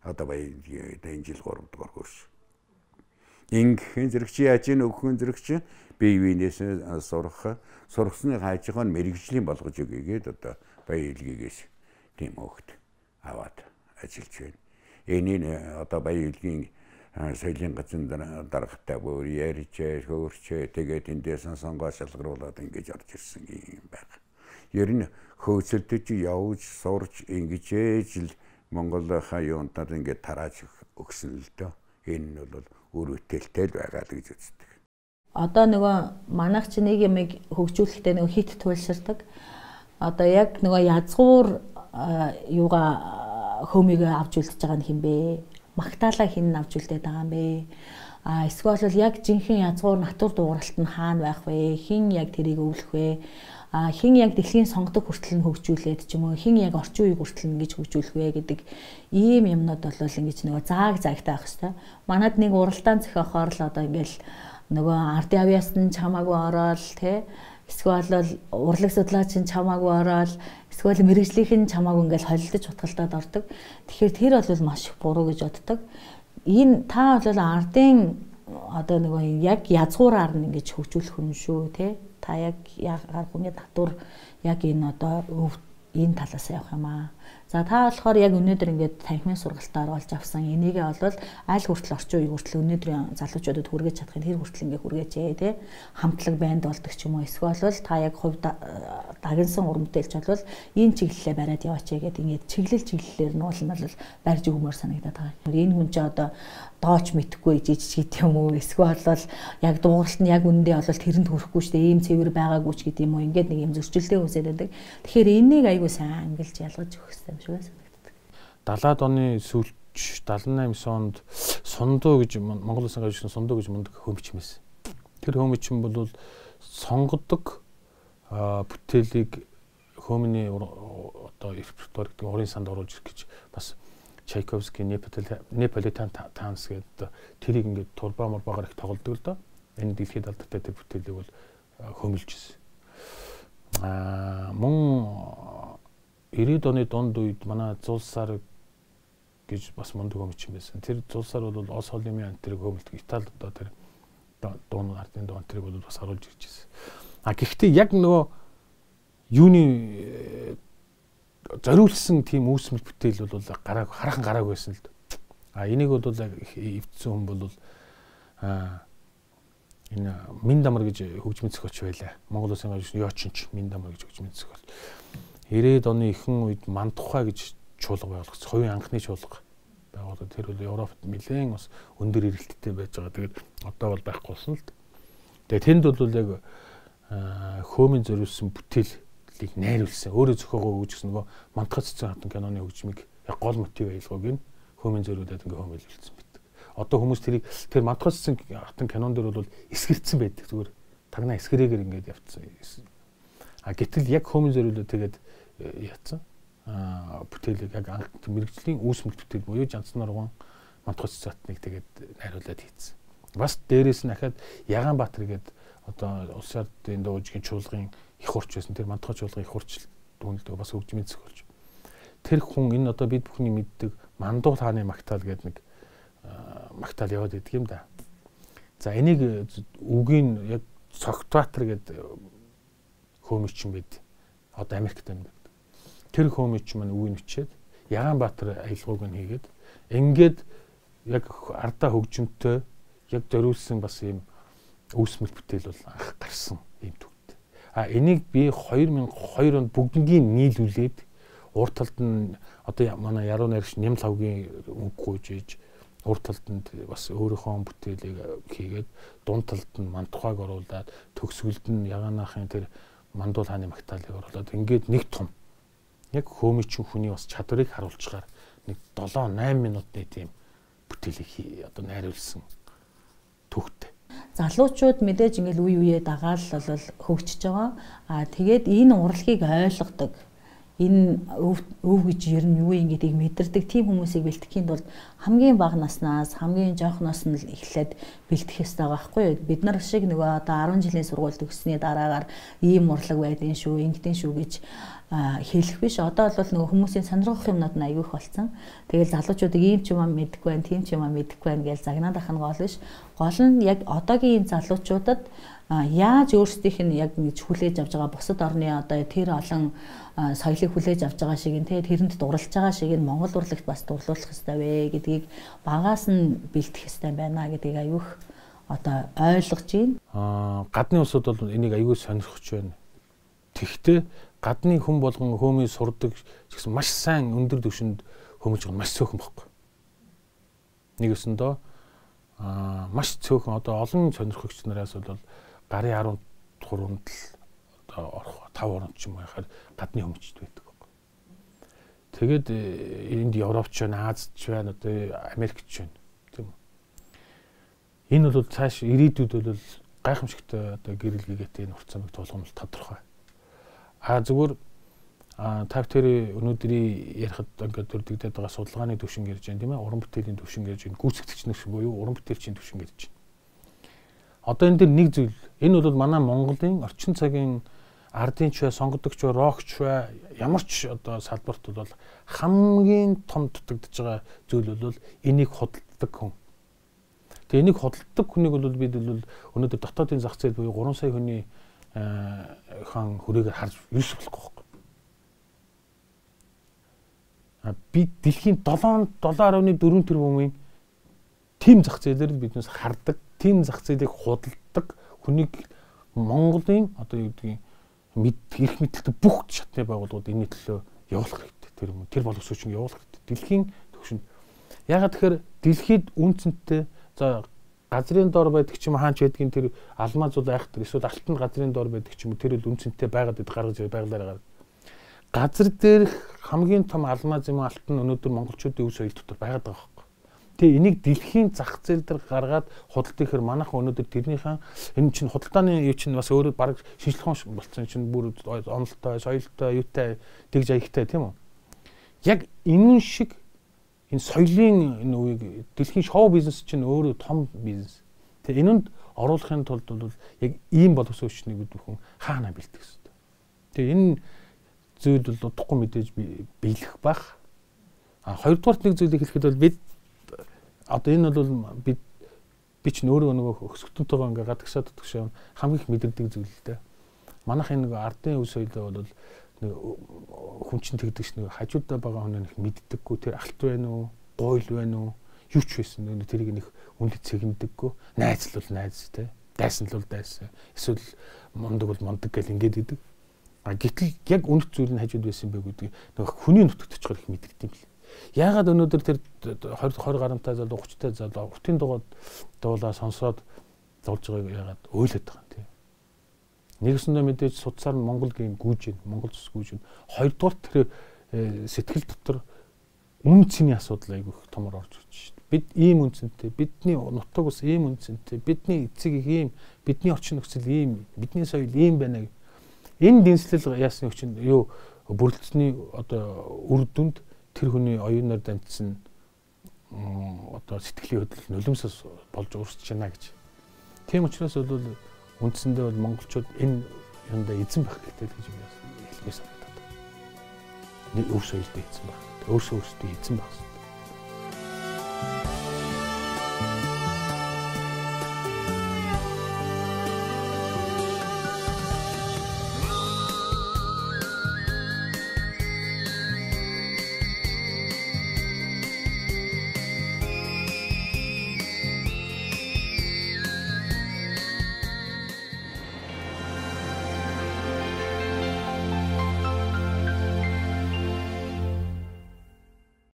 Одоо баян энэ жил гурав дахь курс. Инхэн зэрэгч яаж ийн өгөхөн зэрэгч бие биенээс сурах, сургасны хайжгаа мэрэгжлийн болгож өгьгээд одоо баян илгээс тийм хүүхэд аваад ажиллаж байна. Энийг одоо баян илгийн соёлын газрын даргатай бүр ярьж, хөөрч, тэгээд эндээс сонгоо шалгаруулад ингэж орж ирсэн юм байна. Ер нь хөөцөлдөж явж сурч ингэж ижил Монгол хаяунтад ингэж тарааж өгсөн л дөө. Энэ нь бол үр бүтээлтэй байгаа л гэж үздэг. Одоо нөгөө манайх чи нэг юмыг хөгжүүлэхдээ нөгөө хит туйлширдаг. Одоо яг нөгөө язгуур юугаа хөөмийг авч үлдэж байгаа нь хин бэ? Магтаалаа хин авч үлдээд байгаа юм бэ? А эсвэл бол яг жинхэнэ язгуур натур дууралт нь хаана байх вэ? Хин яг тэрийг өвлөх вэ? А хин яг дэлхийн сонгодог хүртэл нь хөгжүүлээд ч юм уу хин яг орчин үеиг хүртэл ингэж хөгжүүлэх вэ гэдэг ийм юмнууд бол ингэж нөгөө зааг заагтай байх хэвээр. Манад нэг уралдаан зохиохоор л одоо ингээл нөгөө ардын авиас нь чамаагүй ороод те эсвэл бол урлаг судлаач нь чамаагүй ороод эсвэл мэрэгжлийнх нь чамаагүй ингээл холилдож утгалтад ордог. Тэгэхээр тэр бол маш их буруу гэж боддог. Энэ та бол ардын одоо нөгөө яг язгуураар нь ингэж хөгжүүлэх хүн шүү те. Та яг ягаар хүний татвар яг энэ одоо энэ талаас явах юм аа. За та болохоор яг өнөөдөр ингээд танхимын сургалтаар олж авсан энийгээ бол аль хүртэл орчин үеиг хүртэл өнөөдрийн залуучуудад хүргэж чадахын хэр хүртэл ингээд хүргээч ээ тий. Хамтлаг банд болдог ч юм уу эсвэл бол та яг хувь дагнсан урамтэлч бол энэ чиглэлээ бариад яваач гэдэг ингээд чиглэл чиглэлээр нь бол барьж өгмөр санагдаад байгаа. Энэ хүн ч одоо дооч мэдхгүй жижиг гэдэг юм уу эсвэл бол яг дууралт нь яг үнэндээ бол тэрэнд хүрэхгүй шүү дээ ийм цэвэр байгаагүй ч гэдэг юм уу ингээд нэг юм зөрчилтэй үсээд байдаг. Тэгэхээр энийг айгүй сайн ангилж ялгаж өгөх хэрэгтэй юм шиг санагддаг. далаад оны сүүлч дадлан наймын онд сундуу гэж Монгол Улсын гавьчсан сундуу гэж мундаг хөөмчмэс. Тэр хөөмчин бол сонгодог бүтээлийг хөөмний одоо репертуар гэдэг урын санд оруулж ирэх гэж бас Чайковский Неаполитан танц гэдэг тэрийг ингээд турба морбагаар их тоглодог л доо. Энэ дэлхийд алдартай тэр бүтээлийг бол хөөмөлжсэн. Аа мөн ирээдүйн оны дунд үед манай Зулсаар гэж бас мундаг хөөмчин байсан. Тэр Зулсаар бол Ос холимын антрыг хөөмөлдөг Италид одоо тэр дуун ардын дуун антрыг бол бас харуулж ирж байсан. А гэхдээ яг нөгөө юуны зориулсан тийм үүсмэл бүтээл бол гарааг хараахан гарааг байсан л дээ. А энийг бол эвдсэн хүн бол а энэ Миндамар гэж хөгжмийн зохиолч байлаа. Монгол Улсын гавьчны Ёочинч Миндамар гэж хөгжмийн зохиолч. ирээд оны ихэнх үед Мандухай гэж чуулга байгуулагдсан. Хувийн анхны чуулга байгууллага тэр бол Европт нэлээд бас өндөр эрэлттэй байж байгаа. Тэгээд одоо бол байхгүй болсон л д. Тэгээд тэнд бол яг хөөмийн зориулсан бүтээлийг найруулсан. Өөрөө зохиогоо өгч гэсэн нөгөө Мантгай цэцэн хатан киноны хөгжмийг яг гол мотив аялгыг нь хөөмийн зориулаад ингээ хөөмөлүүлсэн байдаг. Одоо хүмүүс тэрийг тэр Мантгай цэцэн хатан кинон дээр бол эсгэрцсэн байдаг. Зүгээр тагнаа эсгэрээгээр ингээд явцсан. А гэтэл яг хөөмийн зориулаад тэгээд яатсан. А бүтээлийг яг мэрэгжлийн үүсмэл бүтээл буюу Жанцны нурган Мантгай цэцэн хатныг тэгээд найруулад хийцэн. Бас дээрээс нь дахиад Ягаанбаатар гэдэг одоо улс ардын дуужгийн чуулгын их хурч байсан. Тэр Мантгай чуулгын их хурч дүнэлдэг бас хөгжмийн зохиолч. Тэр хүн энэ одоо бид бүхний мэддэг Мандуул хааны магтаал гэдэг нэг магтаал яваад идэг юм да. За энийг үгийн яг Цогтбаатар гэдэг хөөмөч юм байд. Одоо Америкт амьд. Тэр хөөмөч маань үгийг бичээд Ягаанбаатар аялгауг нь хийгээд ингээд яг ардаа хөгжмөнтэй яг зориулсан бас ийм үүсмэл бүтээл бол анх гарсан юм төгт. А энийг би хоёр мянга и хоёр онд бүгднийг нийлүүлээд урт талд нь одоо манай яруу найрагч Ням лавгийн үг гуйж ийж урт талд нь бас өөрийнхөө бүтээлийг хийгээд дунд талд нь Мантухайг оруулаад төгсгөлд нь Ягаанахын тэр Мандуул хааны магтаалыг оруулаад ингээд нэг том яг хөөмөчийн хүний бас чадварыг харуулчихаар нэг долоо найман минутын тийм бүтээлийг одоо найруулсан төгт. Залуучууд мэдээж ингээл үе үе дагаал бол хөгжиж байгаа. Аа тэгээд энэ урлагийг ойлгодог. Энэ өв гэж ер нь юу юм гэдгийг мэдэрдэг тийм хүмүүсийг бэлтгэхийн тулд хамгийн бага наснаас хамгийн жоохноос нь л эхлээд бэлтгэх ёстой байгаа байхгүй юу? Бид нар шиг нөгөө одоо арван жилийн сургууль төгссөний дараагаар ийм урлаг байдгийн шүү, ингэдэн шүү гэж хэлэх биш. Одоо бол нөгөө хүмүүсийн сонирхох юмнууд нь аягүй их болсон. Тэгэл залуучуудыг ийм ч юм аа мэдэхгүй байна, тийм ч юм аа мэдэхгүй байна гэж загнаад ахна гол биш. Гол нь яг одоогийн энэ залуучуудад яаж өөрсдийнх нь яг нэг хүлээж авч байгаа бусад орны одоо тэр олон соёлыг хүлээж авч байгаа шиг нь тэрэнд дурлаж байгаа шиг нь Монгол урлагт бас дурлуулах хэрэгтэй вэ гэдгийг багаас нь бэлтгэх хэрэгтэй байна гэдгийг аюух одоо ойлгож байна. Аа гадны улсууд бол энийг аюул сонирхож байна. Тэгвэл гадны хүн болгон хөөмийг сурдаг гэсэн маш сайн өндөр түвшинд хөөмөж байгаа маш цөөхөн баггүй. Нэг өсөндөө аа маш цөөхөн одоо олон сонирхогч нараас бол гарын арван гуравт л одоо орох тав орнд ч юм байхаар гадны хөөмчд байдаг байхгүй. Тэгээд энд Европч байна, Азч байна, одоо Америкч байна. Тийм үү. Энэ бол цааш ирээдүйд бол гайхамшигтай одоо гэрэл гээтэй энэ урт замыг тулгамж тодорхой. А зүгээр та тэр өнөөдрийн ярихад ингээд дөрдөгдөд байгаа судалгааны төвшин ярьж байна тийм ээ. Уран бүтээлийн төвшин ярьж байна. Гүйцэтгэгч нар буюу уран бүтээлчийн төвшин ярьж байна. Одоо энэ дэр нэг зүйл. Энэ бол манай Монголын орчин цагийн ардын ч бай, сонгодогч бай, рокч бай, ямар ч одоо салбарт бол хамгийн том дутагдж байгаа зүйл бол энийг худалдаг хүн. Тэгээ энийг худалдаг хүнийг бол бид бол өнөөдөр дотоодын зах зээл буюу гурван сая хүний хаан хүрээгээр харж юус болохгүй байхгүй. А бид дэлхийн долоо долоо дөрвөн тэрбумын тим зах зээлээр биднээс хардаг, тим зах зээлийг худалдаг хүнийг Монголын одоо юу гэдгийг мэд эрх мэдэлтэй бүх шатны байгууллагууд энэ төлөө явуулах хэрэгтэй. Тэр юм тэр боловсруучийг явуулах хэрэгтэй. Дэлхийн төвшөнд. Ягаад тэгэхээр дэлхийд үнцэнтэй за газрын дор байдаг ч юм хаач байдгийн тэр алмаз бол айхтар эсвэл алтан газрын дор байдаг ч юм тэр л үнцэнтэй байгаад байд гаргаж байгалаараа. Газар дээр хамгийн том алмаз юм алтан өнөөдөр монголчуудын өв соёл дотор байгаад байгаа байхгүй. Тэгээ энийг дэлхийн зах зээл дээр гаргаад худалдах гэхээр манайхан өнөөдөр тэрнийхэн энэ чинь худалдааны юу чинь бас өөрөө баг шинжлэх ухаан болсон чинь бүр онолтой, соёлтой, юутай, тэгж аягтай тийм үү? Яг энэ шиг энэ соёлын энэ үеийг дэлхийн шоу бизнес чинь өөрөө том бизнес. Тэгээ энэнд оруулахын тулд бол яг ийм боловсруучныг бид бүхэн хаана бэлтгэх ёстой. Тэгээ энэ зүйл бол удахгүй мэдээж биелэх бах. А хоёрдугаар нэг зүйлийг хэлэхэд бол бид одоо энэ бол бид би ч өөрөө нөгөө өсгөлтөнтэйгээ ингээ гадагшаад утгашаа хамгийн их мэдэрдэг зүйл л дээ. Манайх энэ нөгөө ардын өв соёлоо бол нэг хүн чинь тэгдэгч нэг хажуудаа байгаа хүн нэг мэддэггүй тэр алт байна уу, гуйл байна уу, юу ч байсан нэг тэрийг нэг үндэд цэгнэдэггүй. Найз л бол найз те. Дайсан л бол дайсан. Эсвэл мундаг бол мундаг гэл ингээд идэг. А гэтэл яг үнэт зүйл нь хажууд байсан бэ гэдэг нэг хүний нутагт очихоор их мэддэг юм бэл. Яагаад өнөөдөр тэр twenty гаруйтай залуу thirty-тай залуу уртын дугад дуулаа сонсоод дуулж байгааг яагаад ойлоод байгаа юм тий. Нэгсэндээ мэдээж судсаар нь Монгол гин гүйж гин Монгол цус гүйж гин. Хоёрдугаар тэр сэтгэл дотор үн цэний асуудал айгүй их томор орж ирж шүү дээ. Бид ийм үнцэнтэй, бидний нутаг ус ийм үнцэнтэй, бидний эцэг их ийм, бидний орчин нөхцөл ийм, бидний соёл ийм байна. Энэ дэнслэл яасны хүчин юу бүрэлдэхүүний одоо үр дүнд тэр хүний оюунаар дамжсан одоо сэтгэлийн хөдлөл нулимсас болж өөрчлөж байна гэж. Тийм учраас бол үндсэндээ бол монголчууд энэ юундаа эзэн байх хэрэгтэй гэж би хэлмээр санагдаад байна. Нэг өв соёлд эзэн байх. Өөрсөө өөрсдөө эзэн байх хэрэгтэй.